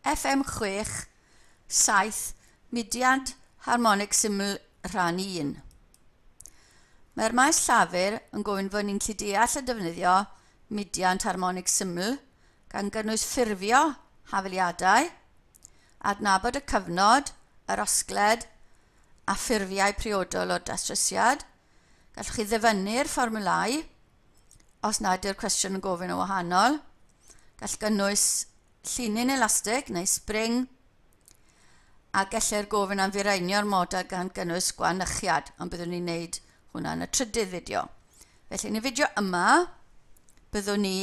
FM6 7 Mudiad Harmonig Syml Rhan 1. Mae'r maes llafur yn gofyn fod ni'n gallu deall a defnyddio mudiant harmonig syml, gan gynnwys ffurfio hafaliadau, adnabod y cyfnod, yr osgled a ffurfiau priodol o'r datrysiad. Gallwch chi ddyfynnu'r fformwlau os nad yw'r cwestiwn yn gofyn yn wahanol. Gall gynnwys llinyn elastig neu spring, a gellir gofyn am fireinio'r model gan gynnwys gwanychiad, ond byddwn ni'n neud hwnna yn y trydydd fideo. Felly yn y fideo yma, byddwn ni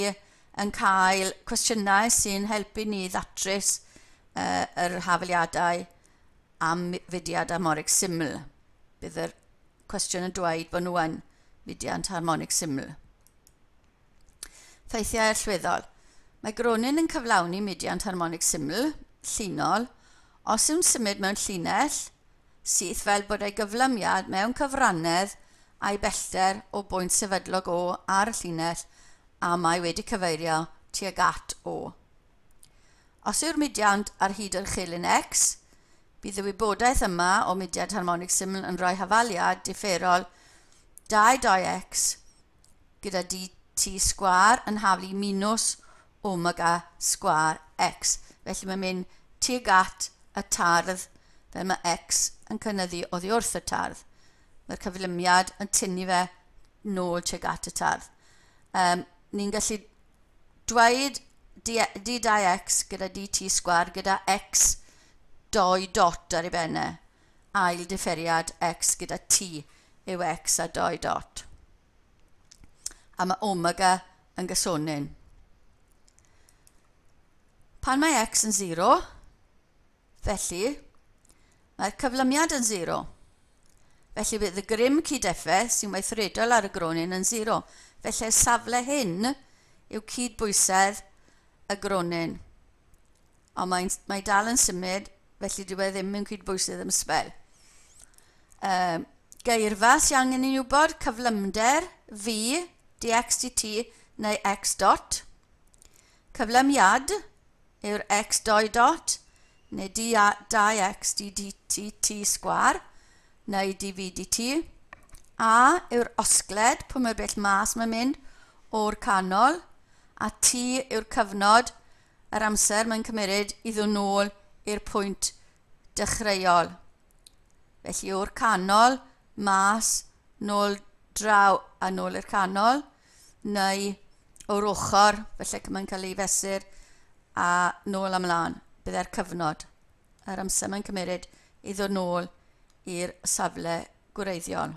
yn cael cwestiynau sy'n helpu ni ddatrys yr hafaliadau am fudiad harmonig syml. Bydd yr cwestiwn yn dweud bod nhw yn fudiant harmonig syml. Ffeithiau allweddol. Mae gronyn yn cyflawni mudiant harmonig syml, llinol, os yw'n symud mewn llinell syth fel bod ei gyflymiad mewn cyfrannedd a'i bellter o bwynt sefydlog O ar y llinell a mae wedi cyfeirio tuag at O. Os yw'r mudiant ar hyd yr uchelyn X, bydd y wybodaeth yma o mudiad harmonig syml yn rhoi hafaliad differol 2 2x gyda dt sgwâr yn haflu minws omega sgwâr x. Felly mae'n mynd tuag at y tardd fel mae x yn cynyddu oddi wrth y tardd. Mae'r cyflymiad yn tynnu fe nôl tuag at y tardd. Ni'n gallu dweud d2x gyda dt sgwâr gyda x 2 dot ar ei benne. Ail differiad x gyda t yw x a 2 dot. A mae omega yn gysonyn. Pan mae x yn 0, felly mae'r cyflymiad yn 0. Felly bydd y grym cydeffaith sy'n weithredol ar y gronyn yn 0. Felly'r safle hyn yw cydbwysedd y gronyn. Ond mae dal yn symud, felly dyw e ddim yn cydbwysedd am sbel. Geirfa sy'n angen i ni wybod, cyflymder v dx dt neu x dot. Cyflymiad yw'r x 2 dot neu d 2x d dt t sgwar neu dv dt. A yw'r osgled, pwy mor bell mas mae'n mynd o'r canol, a t yw'r cyfnod, yr amser mae'n cymeryd i ddod nôl i'r pwynt dechreuol. Felly o'r canol, mas, nôl draw a nôl i'r canol, neu o'r ochr, felly mae'n cael ei fesur a nôl ymlaen. Byddai'r cyfnod, yr amser mae'n cymeryd i ddod nôl i'r safle gwreiddiol.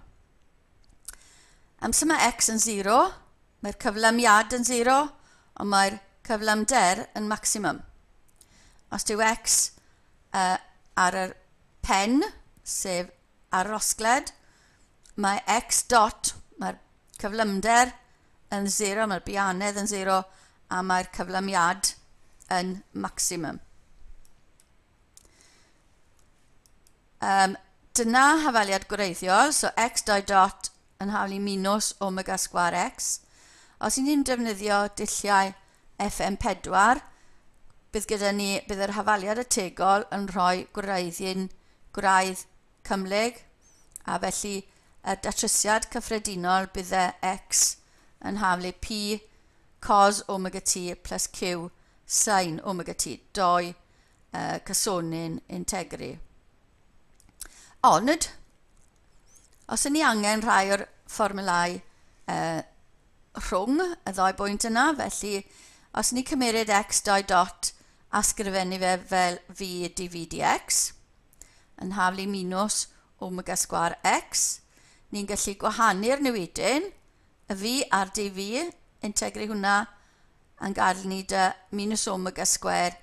Amser mae x yn 0, mae'r cyflymiad yn 0, ond mae'r cyflymder yn maximum. Os dyw x ar yr pen, sef ar yr osgled, mae x dot, mae'r cyflymder yn 0, mae'r bianedd yn 0, a mae'r cyflymiad yn maximum. Dyna hafaliad gwreiddiol, so x 2 dot yn haflu minus omega sgwâr x. Os ni'n defnyddio dulliau FM4, bydd gyda ni, bydd yr hafaliad ategol yn rhoi gwraidd cymhlyg, a felly y datrysiad cyffredinol bydd e x yn haflu p cos omega t plus q sin omega t, 2 cysonyn integru. Ond, os ydyn ni angen rhai o'r fformulau rhwng y ddau bwynt yna, felly os ni cymeryd x 2 dot a sgrifennu fe fel v dv dx, yn haflu minus omega sgwâr x, ni'n gallu gwahanu'r newidyn, y v a'r dv, integru hwnna yn gadael ni dy minus omega sgwâr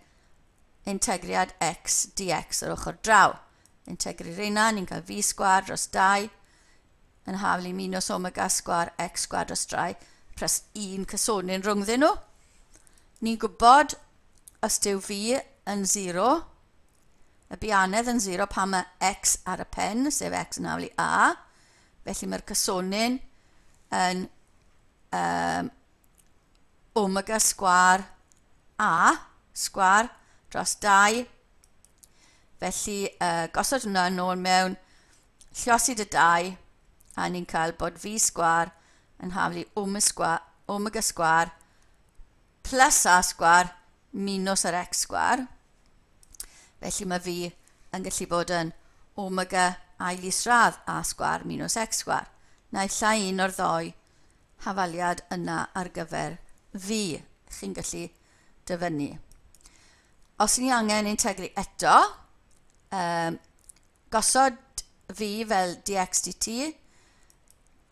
integriad x dx ar ochr draw. Integru reina, ni'n cael v sgwâr dros 2 yn haflu minus omega sgwâr x sgwâr dros 3 plus 1 cysonyn rhwngddyn nhw. Ni'n gwybod os dyw v yn 0, y bianedd yn 0 pan mae x ar y pen, sef x yn haflu a, felly mae'r cysonyn yn omega sgwâr a sgwâr dros 2. Felly, gosod hwnna nôl mewn lliosi dy 2, a ni'n cael bod v sgwar yn haflu omega sgwar plus a sgwar minus yr x sgwar. Felly mae v yn gallu bod yn omega ail isradd a sgwar minus x sgwar. Naill ai un o'r ddou hafaliad yna ar gyfer v chi'n gallu dyfynnu. Os ni angen integru eto, gosod v fel dx dt,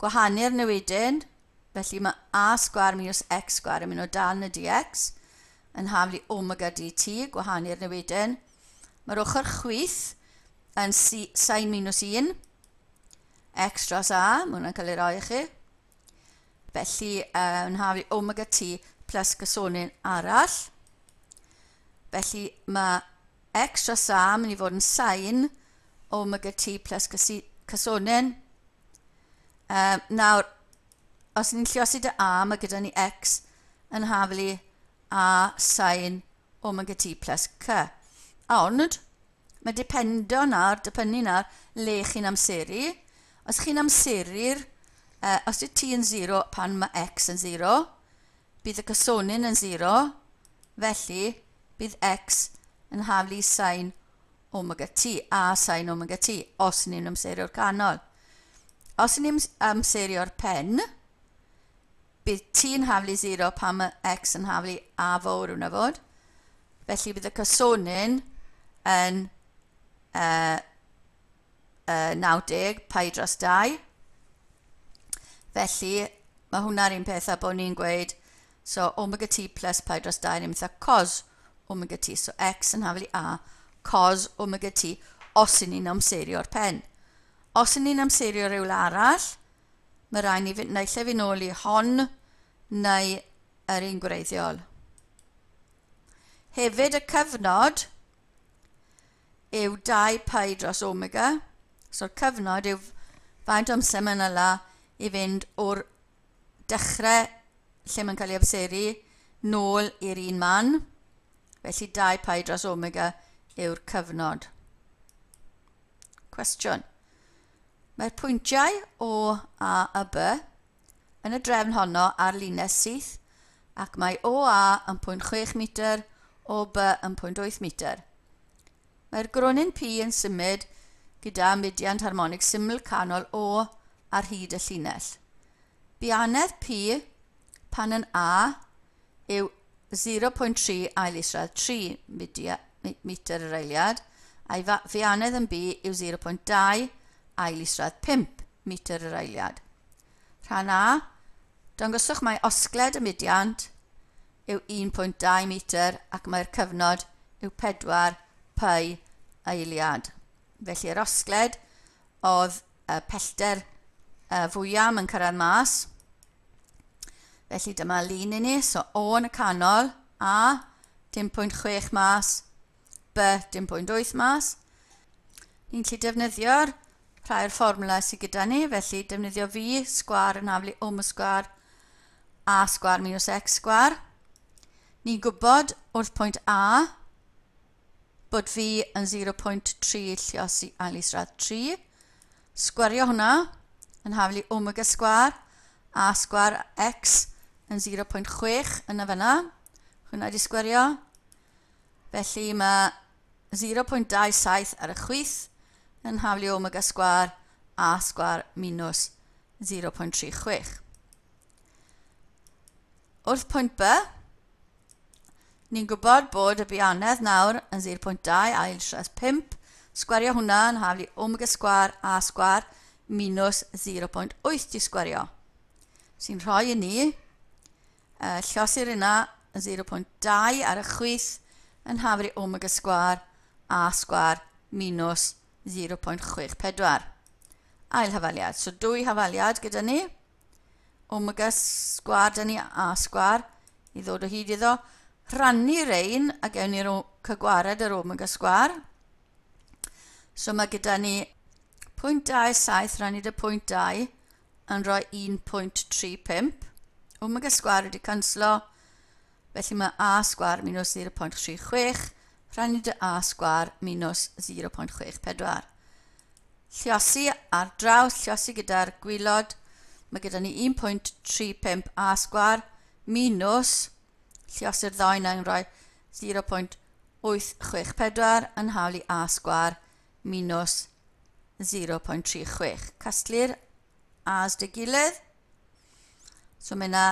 gwahanu'r newidyn, felly mae a sgwar minus x sgwar yn mynd o dan y dx, yn haflu omega dt, gwahanu'r newidyn. Mae'r ochr chwith yn sin minus 1, x dros a, mae hwnna'n cael ei roi i chi. Felly, yn haflu omega t plus gysonyn arall. Felly, mae x dros a mynd i fod yn sin omega t plus cysonyn. Nawr, os ni'n lliosi dy a, mae gyda ni x yn haflu a sin omega t plus c. Ond, mae dependo nawr, dibynnu nawr le chi'n amseru. Os chi'n amseru'r, os yw t yn 0 pan mae x yn 0, bydd y cysonyn yn 0, felly bydd x yn haflu sin omega t, a sin omega t, os ni'n amseru'r canol. Os ni'n amseru'r pen, bydd t yn haflu 0 pan mae x yn haflu a fawr hwnna fod. Felly bydd y cysonyn yn 90 pi dros 2. Felly mae hwnna'r un peth a bod ni'n gweud, so omega t plus pi dros 2 ni'n mynd cos omega t. So x yn haflu a cos omega t os y'n ni'n amserio'r pen. Os y'n ni'n amserio rhywle arall, mae rhaid ni fynd naill ai fynd nôl i hon neu yr un gwreiddiol. Hefyd y cyfnod yw 2 pi dros omega. So'r cyfnod yw faint o amser mae'n yla i fynd o'r dechrau lle mae'n cael ei amseru nôl i'r un man. Felly 2 pi dros omega yw'r cyfnod. Cwestiwn. Mae'r pwyntiau O, A a B yn y drefn honno ar linell syth ac mae OA yn 0.6 metr, OB yn 0.8 metr. Mae'r gronyn P yn symud gyda mudiant harmonig syml canol O ar hyd y llinell. Bianedd P pan yn A yw 0.3 ail isradd 3 metr yr eiliad, a'i fianedd yn B yw 0.2 ail isradd 5 metr yr eiliad. Rhan A, dangoswch mai osgled y mudiant yw 1.2 metr ac mae'r cyfnod yw 4 pi eiliad. Felly yr osgled oedd y pellter fwyaf yn cyrraedd mas. Felly dyma lun i ni, so O yn y canol, A 0.6 mas, B 0.8 mas. Ni'n gallu defnyddio'r rhai o'r fformwla sydd gyda ni, felly defnyddio V sgwar yn haflu omega sgwar A sgwar minus X sgwar. Ni'n gwybod wrth pwynt A bod V yn 0.3 lliosi ail isradd 3. Sgwario hwnna yn haflu omega sgwar, A sgwar X yn 0.6 yna fyna. Hwnna wedi sgwario. Felly mae 0.27 ar y chwith yn haflu omega sgwar A sgwar minus 0.36. Wrth pwynt B, ni'n gwybod bod y bianedd nawr yn 0.2 ail isradd 5. Sgwario hwnna yn haflu omega sgwar A sgwar minus 0.8 i sgwario. Sy'n rhoi i ni lliosi'r yna yn 0.2 ar y chwith yn haflu omega sgwar A sgwar minus 0.64. Ail hafaliad. So dwy hafaliad gyda ni. Omega sgwar da ni A sgwar i ddod o hyd iddo. Rhannu rein a gewn ni'r cygwared yr omega sgwar. So mae gyda ni 0.27 rhannu dy 0.2 yn rhoi 1.35. Omega sgwar wedi canslo, felly mae A sgwar minus 0.36 rhannu dy a sgwar minus 0.64. Lliosi ar draws, lliosi gyda'r gwylod, mae gyda ni 1.35 a sgwar minus, lliosi'r ddau yna yn rhoi 0.864 yn hawl i a sgwar minus 0.36. Casglu'r a's dy gilydd. So mae yna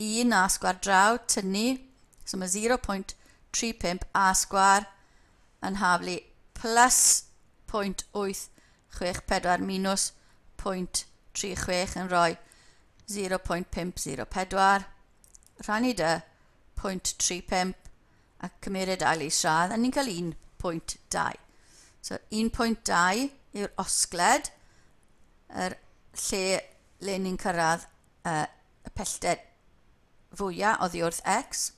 1 a sgwar draw, tynnu. So mae 0.35 a sgwar yn haflu plus 0.864 minus 0.36 yn rhoi 0.504. Rhannu dy 0.35 a cymeryd ail isradd, a ni'n cael 1.2. So 1.2 yw'r osgled, yr lle le ni'n cyrraedd y pellter fwyaf oddi wrth x.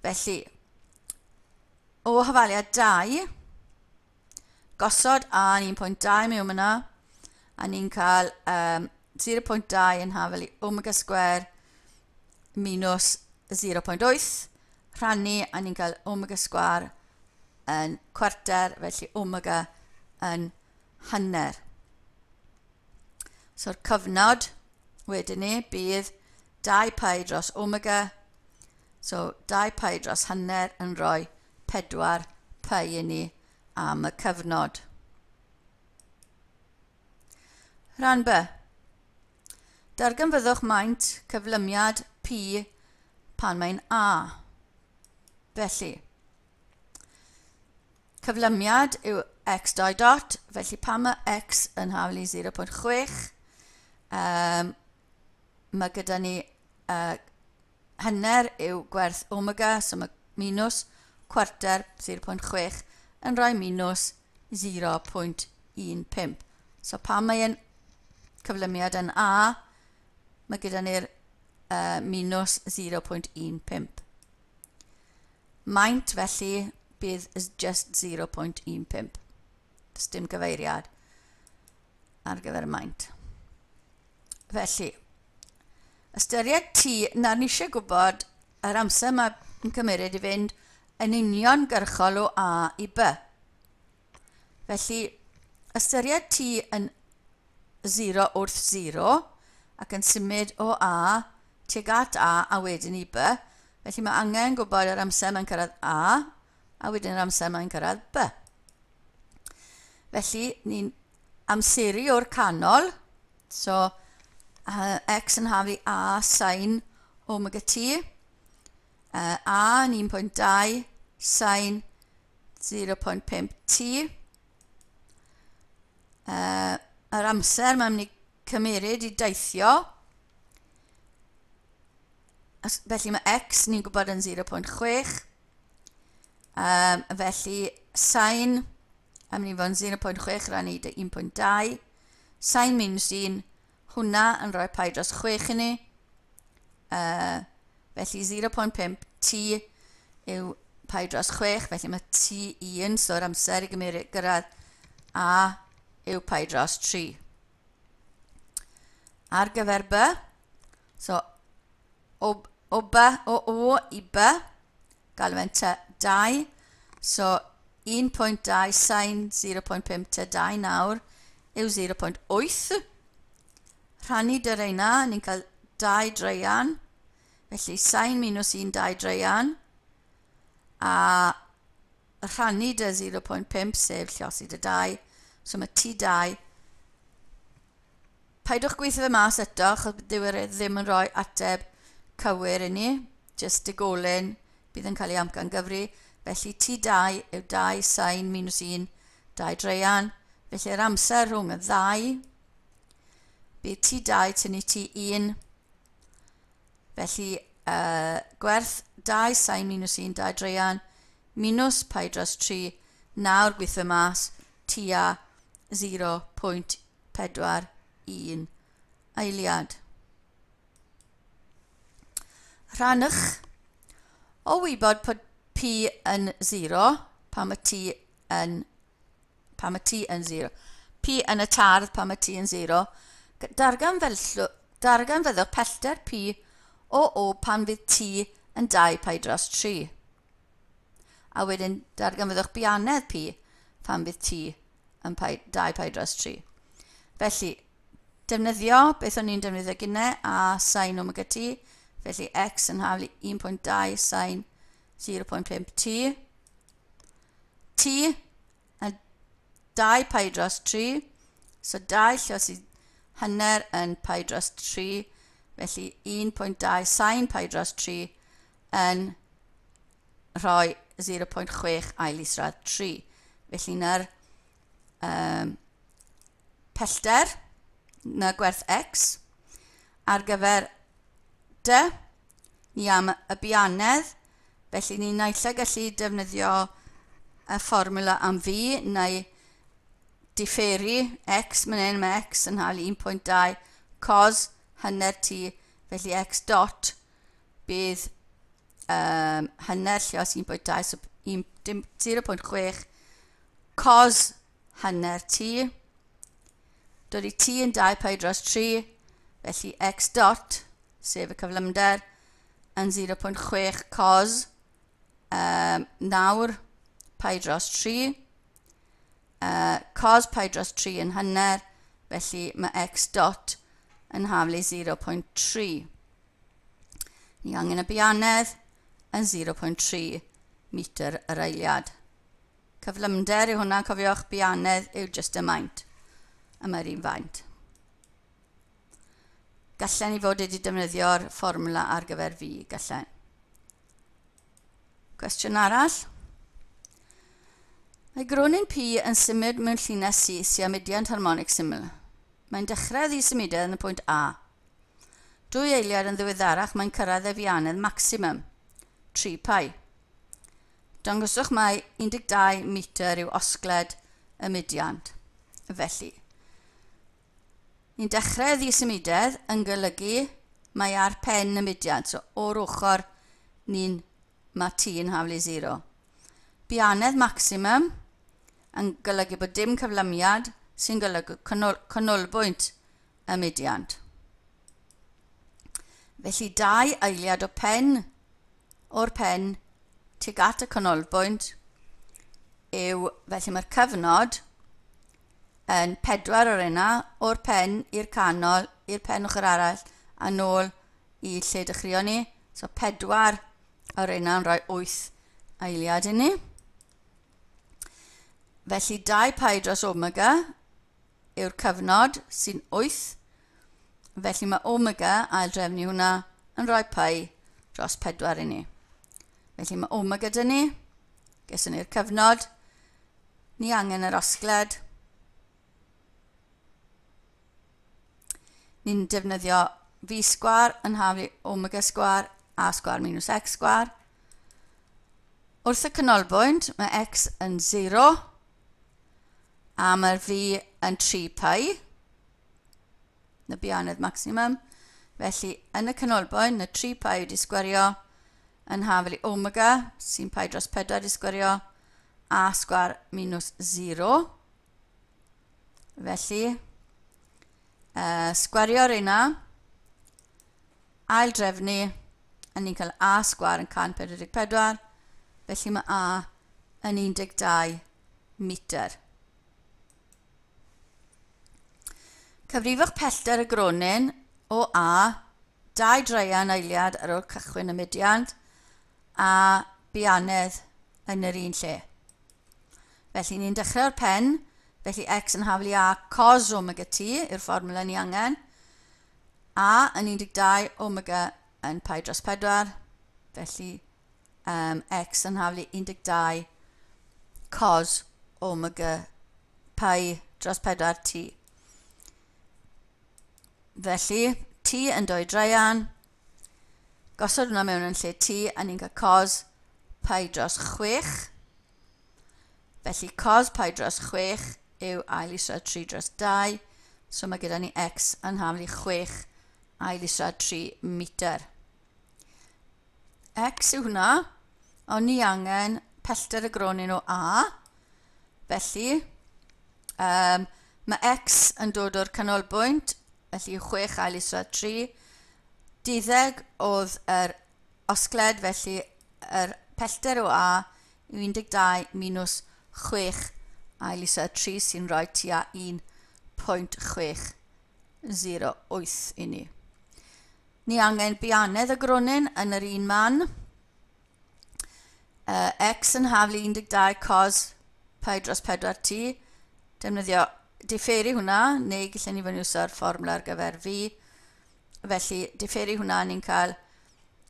Felly, o hafaliad 2, gosod a yn 1.2 mewn yna, a ni'n cael 0.2 yn hafal i omega square minus 0.8, rhannu, a ni'n cael omega square yn cwarter, felly omega yn hanner. So'r cyfnod wedyn ni bydd 2 pi dros omega, so 2 pi dros hanner yn rhoi 4 pi i ni am y cyfnod. Rhan B. Darganfyddwch maint cyflymiad P pan mae'n A. Felly, cyflymiad yw x 2 dot, felly pan mae x yn haflu 0.6, mae gyda ni hanner yw gwerth omega, so mae minus cwarter 0.6 yn rhoi minus 0.15. So pan mae'n cyflymiad yn A, mae gyda ni'r minus 0.15. Maint felly bydd just 0.15. Does dim gyfeiriad ar gyfer maint. Felly, ystyried t, nawr ni eisiau gwybod yr amser mae'n cymryd i fynd yn uniongyrchol o A i B. Felly, ystyried t yn 0 wrth 0 ac yn symud o A tuag at A a wedyn i B. Felly mae angen gwybod yr amser mae'n cyrraedd A a wedyn yr amser mae'n cyrraedd B. Felly, ni'n amseru o'r canol. So, x yn hafu A sin omega t. A yn 1.2 sin 0.5 t. Yr amser mae'n mynd i cymeryd i deithio. Felly mae x ni'n gwybod yn 0.6. Felly sin am mynd i fod yn 0.6 rannu 1.2. Sin minus 1, hwnna yn rhoi pi dros 6 i ni. Felly 0.5 t yw pi dros 6, felly mae t1, so'r amser i gymryd gyrraedd A yw pi dros 3. Ar gyfer B, so o B, o O i B, galw fe'n T2, so 1.2 sin 0.5 T2 nawr yw 0.8. Rhannu dy reina, ni'n cael 2 dreian, felly sin minus 1 2 dreian, a rhannu dy 0.5 sef lliosi dy 2, so mae T2. Paidwch gweithio fe mas eto, achos dyw e ddim yn rhoi ateb cywir i ni, jyst digolyn bydd yn cael ei amcan gyfri. Felly T2 yw 2 sin minus 1 2 dreian. Felly yr amser rhwng y ddau, bydd T2 tynnu T1. Felly gwerth 2 sin minus 1 2 dreian minus pi dros 3, nawr gweithio mas tua 0.41 eiliad. Rhannwch o wybod bod P yn 0 pan mae T yn 0. P yn y tardd pan mae T yn 0. Darganfyddwch pellter P o O pan fydd T yn 2 pi dros 3. A wedyn darganfyddwch bianedd P pan bydd T yn 2 pi dros 3. Felly, defnyddio beth o'n i'n defnyddio gynnau a sin omega t, felly x yn haflu 1.2 sin 0.5 t. T yn 2 pi dros 3, so 2 llos i hanner yn pi dros 3, felly 1.2 sin pi dros 3 yn rhoi 0.6 ail isradd 3. Felly na'r pellter, na gwerth x, ar gyfer d, ni am y bianedd, felly ni naill ai gallu defnyddio y fformula am v, neu diferu x, man hyn mae x yn hael 1.2 cos hanner t, felly x dot bydd hanner lluos 1.2, so 0.6 cos hanner t. Dod i t yn 2 pi dros 3, felly x dot, sef y cyflymder, yn 0.6 cos 9 pi dros 3. Cos pi dros 3 yn hanner, felly mae x dot yn haflu 0.3. Ni angen y bianedd yn 0.3 metr yr eiliad. Cyflymder yw hwnna, cofiwch, bianedd yw just y maint. A mae'r un faint. Gallen ni fod wedi defnyddio'r fformwla ar gyfer v, gallen. Cwestiwn arall. Mae gronyn P yn symud mewn llinell syth sy'n mudiant harmonig syml. Mae'n dechrau ddisymudedd yn y pwynt A. 2 eiliad yn ddiweddarach mae'n cyrraedd ei fianedd maximum, 3 pi. Dangoswch mai 12 metr yw osgled y mudiant. Felly, ni'n dechrau ddisymudedd yn golygu mae ar pen y mudiant, so o'r ochr ni'n mae t yn haflu 0. Bianedd maximum yn golygu bod dim cyflymiad sy'n golygu canolbwynt y mudiant. Felly 2 eiliad o pen o'r pen tuag at y canolbwynt yw, felly mae'r cyfnod yn 4 o'r yna, o'r pen i'r canol, i'r pen ochr arall, a nôl i lle dechreuon ni. So 4 o'r yna yn rhoi 8 eiliad i ni. Felly 2 pi dros omega yw'r cyfnod sy'n 8. Felly mae omega, ail drefnu hwnna, yn rhoi pi dros 4 i ni. Felly mae omega dyn ni, geson ni'r cyfnod, ni angen yr osgled. Ni'n defnyddio v sgwar yn haflu omega sgwar a sgwar minus x sgwar. Wrth y canolbwynt mae x yn 0 a mae'r v yn 3 pi, na bianedd maximum. Felly yn y canolbwynt mae 3 pi wedi sgwario yn haflu omega sy'n pi dros 4 wedi sgwario a sgwar minus 0. Felly, sgwario'r yna, ail drefnu, a ni'n cael a sgwar yn 144, felly mae a yn 12 metr. Cyfrifwch pellter y gronyn o A, 2 draean eiliad ar ôl cychwyn y mudiant, a bianedd yn yr un lle. Felly ni'n dechrau o'r pen, felly x yn haflu a cos omega t yw'r fformwla ni angen, a yn 12, omega yn pi dros 4, felly x yn haflu 12 cos omega pi dros 4 t. Felly, t yn 2 draean, gosod hwnna mewn yn lle t, a ni'n cael cos pi dros 6. Felly, cos pi dros 6 yw ail isradd 3 dros 2, so mae gyda ni x yn haflu 6 ail isradd 3 metr. X yw hwnna, ond ni angen pellter y gronyn o A. Felly, mae x yn dod o'r canolbwynt, felly 6 ail isradd 3. 12 oedd yr osgled, felly yr pellter o A yw 12 minus 6 ail isod 3 sy'n rhoi tua 1.608 i ni. Ni angen bianedd y gronyn yn yr un man. X yn haflu 12 cos pi dros 4 t. Defnyddio diferu hwnna, neu gallen ni fod yn iwsio'r fformwla ar gyfer v. Felly, diferu hwnna, ni'n cael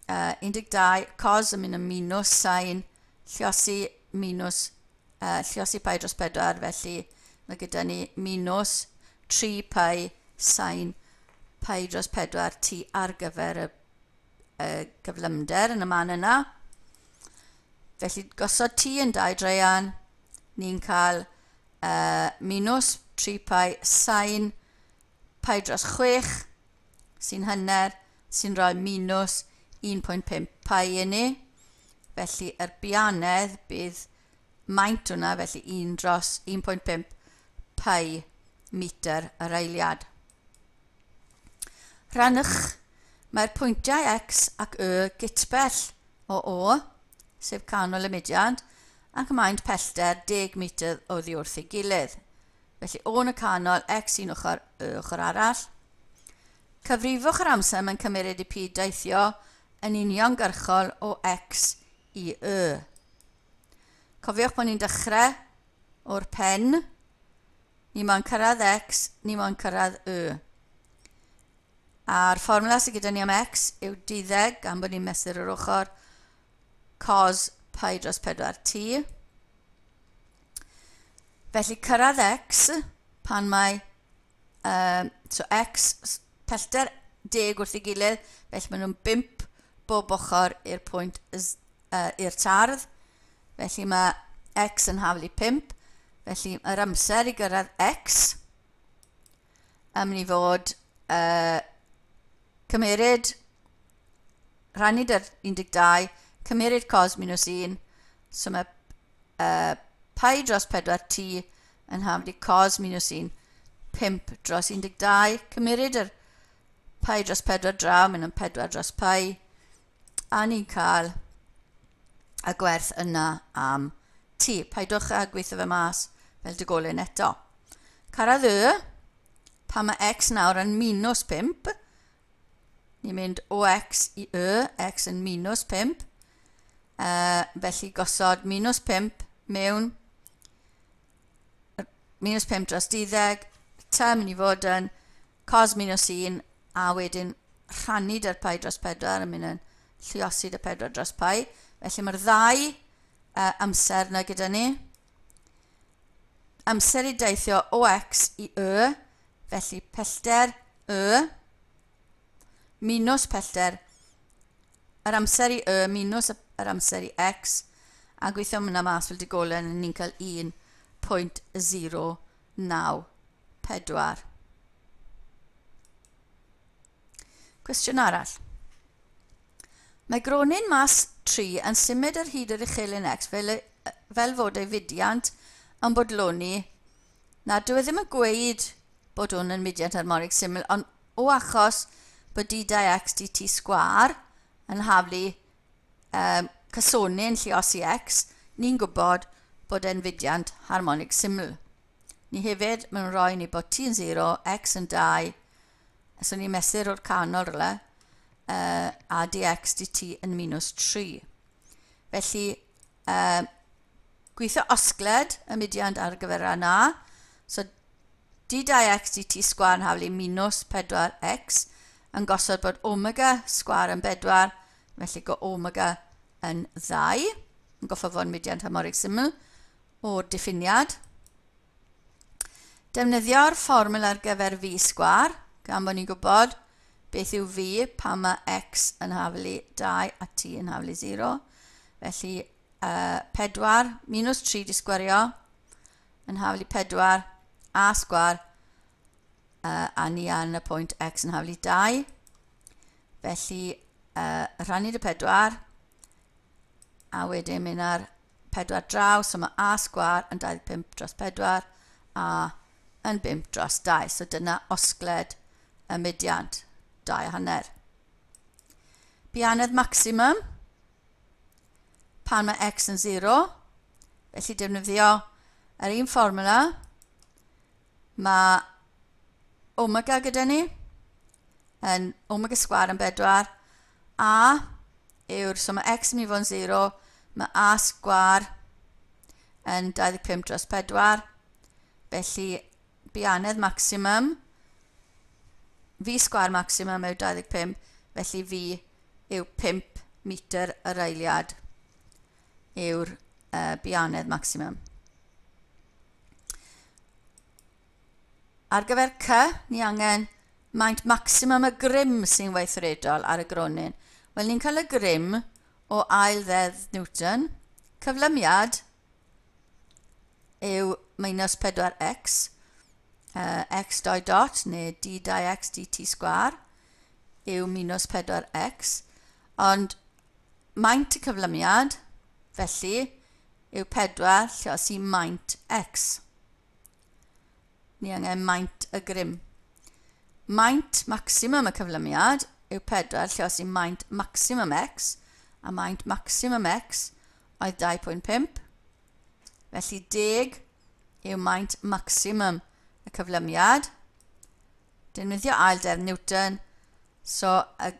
12 cos yn mynd yn minus sin, lliosi minus, lliosi pi dros 4, felly mae gyda ni minus 3 pi sin pi dros 4 t ar gyfer y gyflymder yn y man yna. Felly gosod t yn 2 draean, ni'n cael minus 3 pi sin pi dros 6 sy'n hanner, sy'n rhoi minus 1.5 pi i ni. Felly yr bianedd bydd maint hwnna, felly 1 dros 1.5 pi metr yr eiliad. Rhannwch, mae'r pwyntiau x ac y gytbell o O, sef canol y mudiad, ac maint pellter 10 metr oddi wrth ei gilydd. Felly O yn y canol, x un ochr, y ochr arall. Cyfrifwch yr amser mae'n cymeryd i P deithio yn uniongyrchol o x i y. Cofiwch bod ni'n dechrau o'r pen. Ni moyn cyrraedd x, ni moyn cyrraedd y. A'r fformwla sydd gyda ni am x yw 12, gan bod ni'n mesur yr ochr, cos pi dros 4 t. Felly cyrraedd x pan mae so x pellter 10 wrth ei gilydd, felly maen nhw'n 5 bob ochr i'r pwynt i'r tardd. Felly mae x yn haflu 5, felly yr amser i gyrraedd x yn mynd i fod cymeryd rhannu dy'r 12, cymeryd cos minus 1, so mae pi dros 4 t yn haflu cos minus 1, 5 dros 12, cymeryd yr pi dros 4 draw, mynd yn 4 dros pi, a ni'n cael y gwerth yna am t. Paidwch â gweithio fe mas fel dygolyn eto. Cyrraedd y, pan mae x nawr yn minus 5, ni'n mynd o x i y, x yn minus 5, felly gosod minus 5 mewn, minus 5 dros 12, t yn mynd i fod yn cos minus 1, a wedyn rhannu dy'r pi dros 4 yn mynd yn lluosi dy 4 dros pi. Felly mae'r ddau amser yna gyda ni. Amser i deithio o x i y, felly pellter y minus pellter yr amser i y minus yr amser i x, a gweithio hwnna mas fel digolen, ni'n cael 1.094. Cwestiwn arall. Mae gronyn mas 3 yn symud ar hyd yr uchelyn x fel fod ei fudiant yn bodloni. Na, dyw e ddim yn gweud bod hwn yn mudiant harmonig syml, ond o achos bod d2x dt sgwâr yn haflu cysonyn lluosi x, ni'n gwybod bod e'n fudiant harmonig syml. Ni hefyd, maen nhw'n rhoi ni bod t yn 0, x yn 2, so ni'n mesur o'r canol rhywle, a dx dt yn minus 3. Felly, gweithio osgled y mudiant ar gyfer rhan A. So, d2x dt sgwâr yn haflu minus 4x yn gosod bod omega sgwâr yn 4, felly go omega yn 2, yn goffo fod mudiant harmonig syml o'r diffiniad. Defnyddio'r fformwl ar gyfer v sgwâr, gan bod ni'n gwybod beth yw v pan mae x yn haflu 2 a t yn haflu 0. Felly 4 minus 3 di sgwario yn haflu 4 a sgwâr a ni yn y pwynt x yn haflu 2. Felly rhannu dy 4 a wedyn mynd ar 4 draw, so mae a sgwâr yn 25 dros 4 a yn 5 dros 2. So dyna osgled y mudiant, 2.5. Bianedd maximum, pan mae x yn 0, Felly defnyddio yr un fformwla, mae omega gyda ni, yn omega sgwâr yn 4, a yw'r, so mae x yn mynd i fod yn 0, mae a sgwâr yn 25 dros 4, felly bianedd maximum, v sgwâr maximum yw 25, felly v yw 5 metr yr eiliad yw'r bianedd maximum. Ar gyfer C, ni angen maint maximum y grym sy'n weithredol ar y gronyn. Wel, ni'n cael y grym o ail ddeddf Newton. Cyflymiad yw minus 4x, x doi dot neu d 2x dt sgwar yw minus 4x, ond maint y cyflymiad, felly, yw 4 lluosi maint x. Ni angen maint y grym. Maint maximum y cyflymiad yw 4 lluosi maint maximum x, a maint maximum x oedd 2.5. Felly 10 yw maint maximum y cyflymiad. Defnyddio ail deddf Newton, so y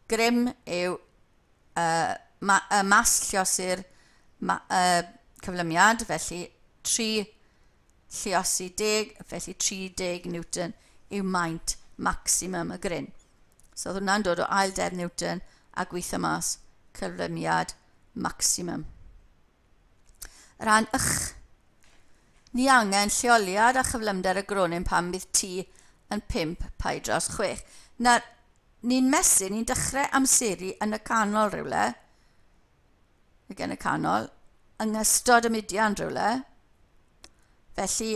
grym yw y mas lluosi'r cyflymiad, felly 3 lluosi 10, felly 30 Newton yw maint maximum y gryn. So oedd hwnna'n dod o ail deddf Newton a gweithio mas cyflymiad maximum. Rhan ych. Ni angen lleoliad a chyflymder y gronyn pan bydd t yn 5 pi dros 6. Nawr, ni'n mesur, ni'n dechrau amseru yn y canol rhywle, ac yn y canol, yng ngystod y mudiad rhywle. Felly,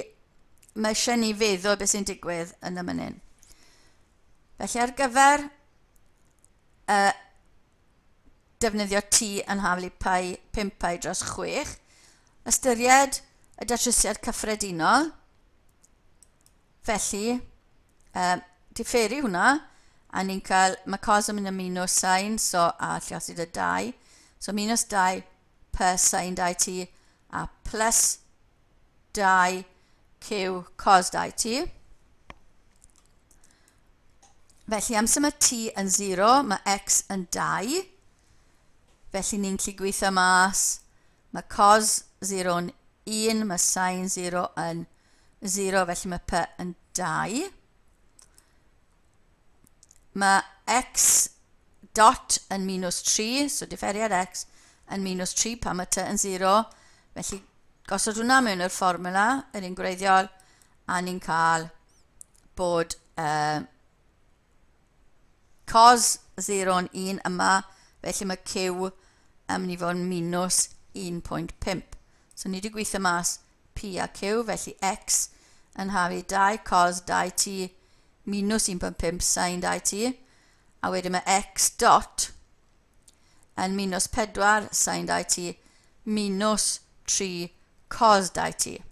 mae eisiau ni feddwl beth sy'n digwydd yn y mynyn. Felly, ar gyfer defnyddio t yn haflu pi, 5 pi dros 6, ystyried y datrysiad cyffredinol. Felly, diferu hwnna, a ni'n cael, mae cos yn mynd yn minus sin, so a lluosi dy 2. So minus 2 per sin 2t a plus 2 q cos 2t. Felly amser mae t yn 0, mae x yn 2. Felly ni'n gallu gweithio mas, mae cos 0 yn 1, mae sin 0 yn 0, felly mae p yn 2. Mae x dot yn minus 3, so diferiad x yn minus 3 pan mae t yn 0. Felly gosod hwnna mewn i'r fformula, yr un gwreiddiol, a ni'n cael bod cos 0 yn 1 yma, felly mae q yn mynd i fod yn minus 1.5. So ni wedi gweithio mas p a q, felly x yn hafu 2 cos 2t minus 1.5 sin 2t, a wedyn mae x dot yn minus 4 sin 2t minus 3 cos 2t.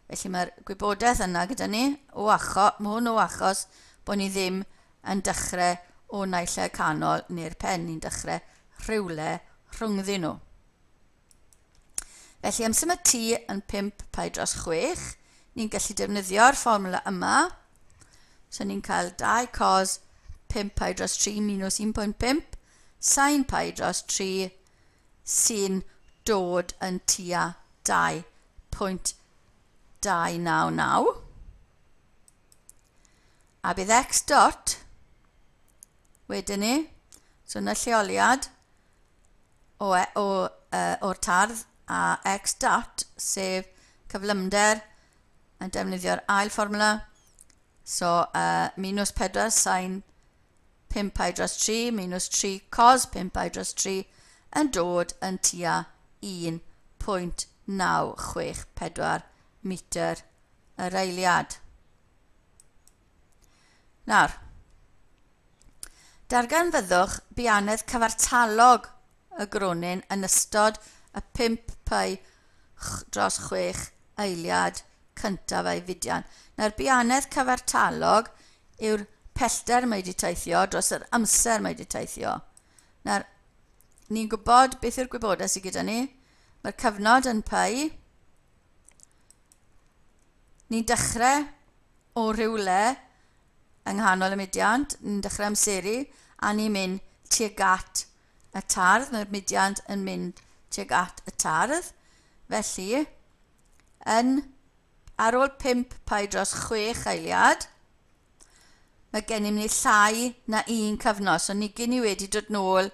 Felly mae'r gwybodaeth yna gyda ni, o achos, mae hwn o achos bod ni ddim yn dechrau o naill ai canol neu'r pen, ni'n dechrau rhywle rhyngddyn nhw. Felly amser mae t yn 5 pi dros 6, ni'n gallu defnyddio'r fformwla yma. So ni'n cael 2 cos 5 pi dros 3 minus 1.5 sin pi dros 3 sy'n dod yn tua 2.299. A bydd x dot wedyn ni, so yna lleoliad o'r tardd a x dot, sef cyflymder yn defnyddio'r ail fformwla. So minus 4 sin 5 pi dros 3 minus 3 cos 5 pi dros 3 yn dod yn tua 1.964 metr yr eiliad. Nawr, darganfyddwch bianedd cyfartalog y gronyn yn ystod y 5 pi dros 6 eiliad cyntaf a'i fudiant. Nawr, bianedd cyfartalog yw'r pellter mae wedi teithio dros yr amser mae wedi teithio. Nawr, ni'n gwybod beth yw'r gwybodaeth sydd gyda ni. Mae'r cyfnod yn pi. Ni'n dechrau o rhywle yng nghanol y mudiant, ni'n dechrau amseru, a ni'n mynd tuag at y tardd. Mae'r mudiant yn mynd tuag at y tardd. Felly, yn, ar ôl 5 pi dros 6 eiliad, mae gennym ni llai na un cyfnod. So ni gyn i wedi dod nôl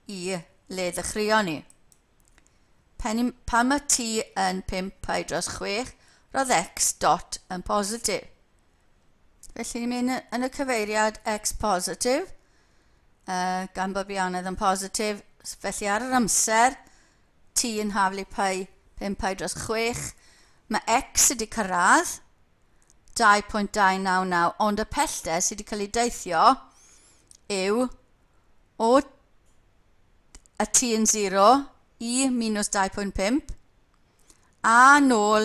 i le ddechreuon ni. Pan mae t yn 5 pi dros 6, roedd x dot yn positif. Felly ni'n mynd yn y cyfeiriad x positif, gan bod bianedd yn positif. Felly ar yr amser, t yn haflu pi 5 pi dros 6, mae x wedi cyrraedd 2.299, ond y pellter sydd wedi cael ei deithio yw o y t yn 0 i minus 2.5 a nôl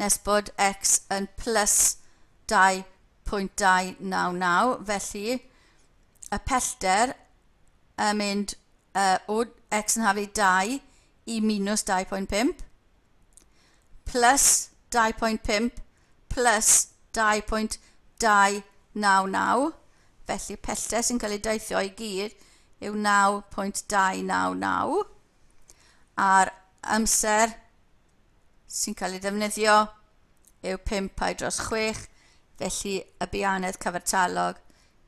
nes bod x yn plus 2.299. Felly y pellter yn mynd o x yn haflu 2 i minus 2.5 plus 2.5 plus 2.299. Felly pellter sy'n cael ei deithio i gyd yw 9.299, a'r amser sy'n cael ei ddefnyddio yw 5 pi dros 6, felly y bianedd cyfartalog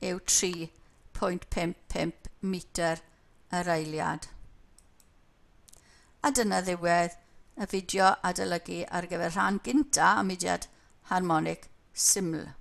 yw 3.55 metr yr eiliad. A dyna ddiwedd y fideo adolygu ar gyfer rhan gynta y mudiad harmonig syml.